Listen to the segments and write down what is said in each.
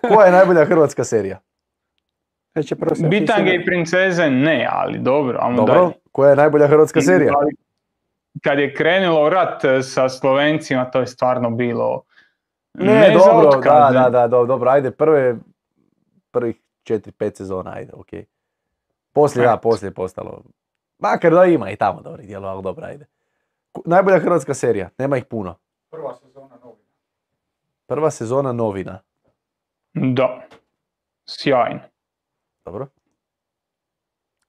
Koja je najbolja hrvatska serija? Bitange i princeze ne, ali dobro, ajmo Dobro, dalje. koja je najbolja hrvatska serija? Kad je krenulo rat sa Slovencima, to je stvarno bilo Ne, za dobro, otkaze. dobro, ajde, prvih 4-5 sezona, ajde, okej. Poslije je postalo. Makar da ima i tamo dobrih dijelova, ali dobro, ajde. Najbolja hrvatska serija, nema ih puno. Prva sezona Novina. Da, sjajno. Dobro.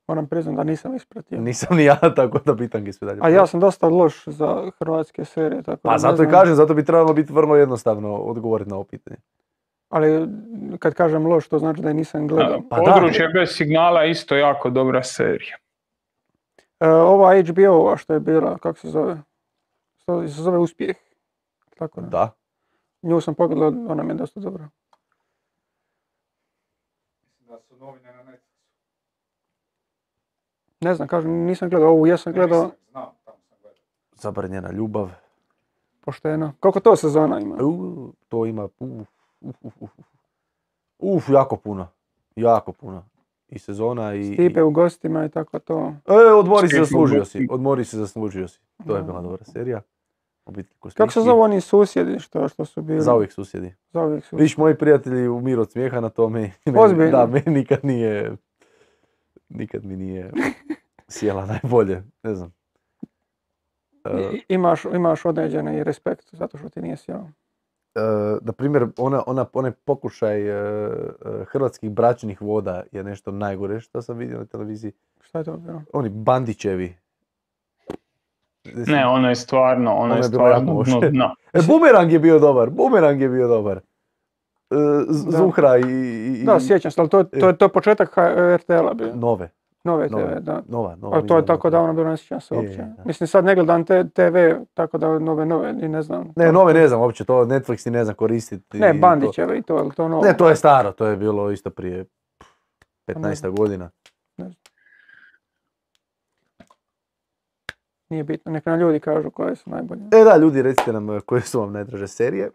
Moram priznam da nisam ispratio. Nisam ni ja, tako da bitange sve dalje. A ja sam dosta loš za hrvatske serije, tako Pa zato i kažem, zato bi trebalo biti vrlo jednostavno odgovoriti na ovo pitanje. Ali kad kažem loš, to znači da je nisam gledao. Područje bez signala je isto jako dobra serija. Ova HBO-ova što je bila, kako se zove? To se zove Uspjeh. Tako da. Nju sam pogledao, ona mi je dosta dobra. Mislim da su Novine na Netflixu. Ne znam, kažem, nisam gledao ovu, ja sam gledao... Znam, tamo sam gledao. Zabranjena ljubav. Pošteno. Koliko to sezona ima? To ima, jako puno. Jako puno. I sezona i... Stipe u gostima i tako to. Odmori se, zaslužio si. To je bila dobra serija. Kako se zove oni susjedi što su bili? Zauvijek susjedi. Viš, moji prijatelji umiru od smijeha na tome. Ozbiljno? Da, meni nikad mi nije sjela najbolje, ne znam. Imaš određeni respekt zato što ti nije sjela. Na primjer, onaj pokušaj hrvatskih bračnih voda je nešto najgore što sam vidio na televiziji. Šta je to bilo? Oni Bandićevi. Ne, ono je stvarno dno. Bumerang je bio dobar. Zuhra i... Da, sjećam se, ali to je početak RTL-a bio. Nove TV, da. Ali to je tako davno bilo, ne sjećam se uopće. Mislim, sad ne gledam TV, tako da nove, ni ne znam. Ne, nove ne znam uopće, to Netflix ni ne znam koristiti. Ne, Bandićeve i to novo. Ne, to je staro, to je bilo isto prije 15 godina. Nije bitno, neka nam ljudi kažu koje su najbolje. Da, ljudi, recite nam koje su vam najdraže serije.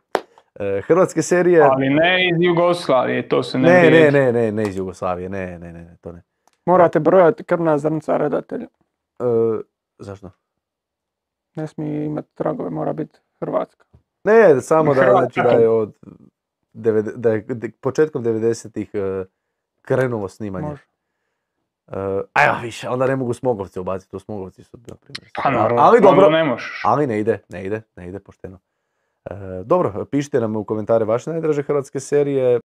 Hrvatske serije... Ali ne iz Jugoslavije, to se ne iz Jugoslavije, ne, to ne. Morate brojati krvna zrnca redatelja. Zašto? Ne smije imati tragove, mora biti Hrvatska. Ne, samo da je da je početkom 90-ih krenulo snimanje. Može. Više, onda ne mogu Smogovce ubaciti, Smogovci su, na primjer. Pa naravno, ali dobro, ne možeš. Ali ne ide pošteno. Dobro, pišite nam u komentare vaše najdraže hrvatske serije.